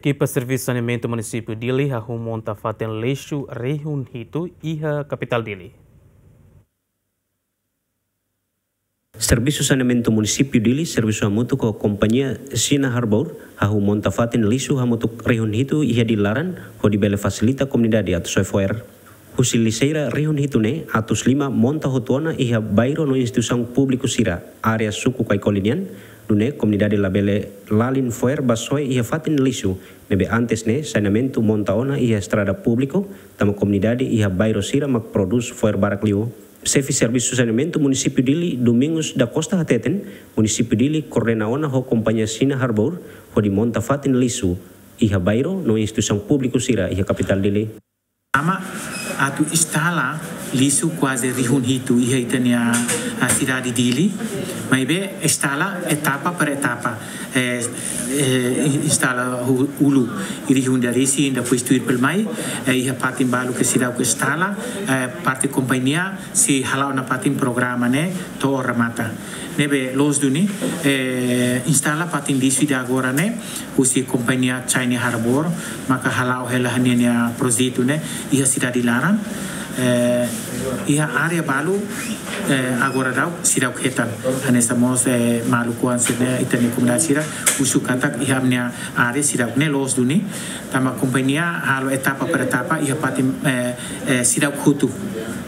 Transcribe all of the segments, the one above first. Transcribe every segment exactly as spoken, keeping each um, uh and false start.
Ekipa Servisu Saneamentu Munisípiu Dili hahú monta fatin lixu rihun hitu iha kapitál Dili. Servisu Saneamentu Munisípiu Dili servisu hamutuk ho kompañia China Harbour hahú monta fatin lixu hamutuk rihun hitu iha Dili laran, hodi bele fasilita komunidade atu soe fo'er. Husi lixeira rihun hitu ne'e, atus lima monta hotu ona iha bairru no instituisaun públiku sira área suku Kaikoli nian, nune'e komunidade labele lalin fo'er ba soe iha fatin lixu ne'ebé antes ne'e saneamentu monta ona iha estrada públiku, tanba komunidade iha bairru sira mak prodús fo'er barak liu. Xefe Servisu Saneamentu Munisípiu Dili, Domingos da Costa, hateten, Munisípiu Dili koordena ona ho kompañia China Harbour hodi monta fatin lixu iha bairru no instituisaun públiku sira iha kapitál Dili. Ama atu instala lixu kuaze rihun hitu iha ita-nia, ah, sidade Dili. Maibé instala etapa per etapa. Eh, eh, instala hu-, uluk rihun ida-isin, depois tuir pelu mai, eh, iha fatin balu ke seidauk instala, eh, parte kompañia sei hala'o nafatin programa ne'e to'o remata. Ne'ebé loos duni, eh, instala fatin lixu ida agora ne'e, husi kompañia China Harbour, maka hala'o hela ninia projetu ne'e iha sidade laran, eh, iha área balu, eh, agora daudaun seidauk hetan. Hanesan mós, eh, maluk oan sira-ne'e, ita-nia komunidade sira husu katak iha ami-nia área seidauk, ne'e loos duni. Tanba kompañia halo etapa per etapa iha fatin, eh, eh, seidauk hotu.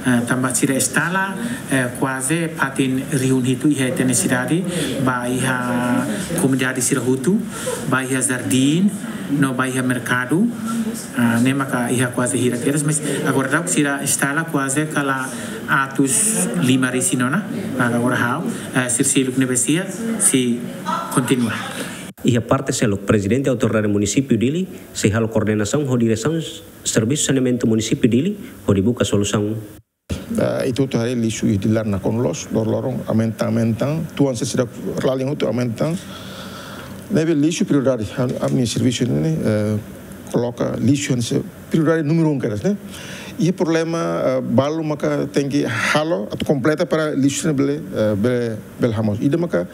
Eh, tanba sira instala, eh, kuaze fatin rihun hitu iha ita-nia sidade, ba iha komunidade sira hotu, ba iha jardín, no ba iha merkadu. Ah, ne'e maka iha kuaze hira kedas, mas agora daudaun sira instala kuaze kala atus lima resin ona, maka agora ha'u, eh, sira seluk ne'ebé sia, sei kontinua. Iha parte seluk, Prezidente Autoridade Munisípiu Dili sei halo koordenasaun ho Diresaun Servisu Saneamentu Munisípiu Dili hodi buka solusaun. Eh, ita hotu haree lixu iha Dili laran nakonu loos, loroloron aumenta, aumenta, tuan sira seidauk lalin hotu aumenta. Ne'ebé lixu prioridade, am-, ami-nia servisu ne'e, eh, koloka lixu hanesan prioridade númeru um kedas, ne'e. Iha problema, eh, balu maka tenke halo atu kompleta para lixu ne'e bele, eh, bele, bele hamoos. Ida maka,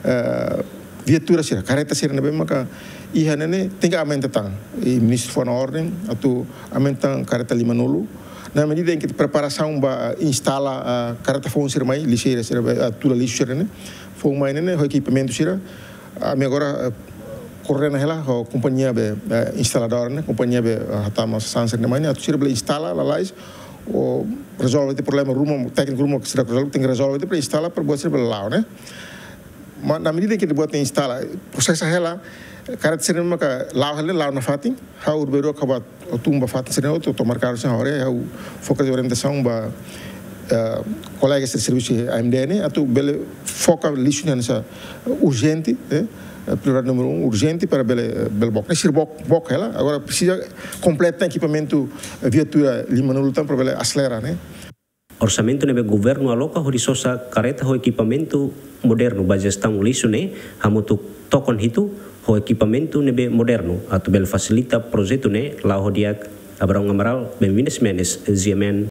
eh, viatura sira, kareta sira ne'ebé maka iha ne'e ne'e tenke aumenta tan. I Ministru fó ona orden atu aumenta tan kareta limanulu. Na medida em que preparasaun ba instala, ah, kareta foun sira mai, lixeira sira ba, ah, tula lixu sira ne'e. Foun mai ne'e ne'e, ho ekipamentu sira. Ami agora, eh, koordena hela ho kompañia be, eh, instaladór ne'e, kompañia be, eh, hatama sasán sira ne'e mai ne'e, atu sira bele instala lalais, ou rezolve tiha problema ruma, tékniku ruma sira rezolve, tenke rezolve tiha para instala, para buat sira bele la'o, ne'e. Mas na medida que buat ne'e instala, prosesa hela, kareta sira ne'e maka la'o hela, la'o nafatin, ha'u urberu acabat o tumba fatin sira ne'e hotu, to'o merkadu sira ne'e hotu, ha'u fó katak orientasaun ba, eh, kolega sira servisu AMDN, atu bele foka lixu ne'e hanesan urjente, eh, prioridade númeru um, urjente para bele, bele book. Ne'e sira book, book hela, agora presiza kompleta ekipamentu, eh, viatura limanulu tan para bele aselera, ne'e. Orsamentu ne'ebé governu aloka hodi sosa kareta ho ekipamentu modernu ba jestaun lixu ne'e hamutuk tokon hitu ho ekipamentu ne'ebé modernu atu bele fasilita projetu ne'e la'o ho di'ak. Abraão Amaral, Benvinda Ximenes, G M N.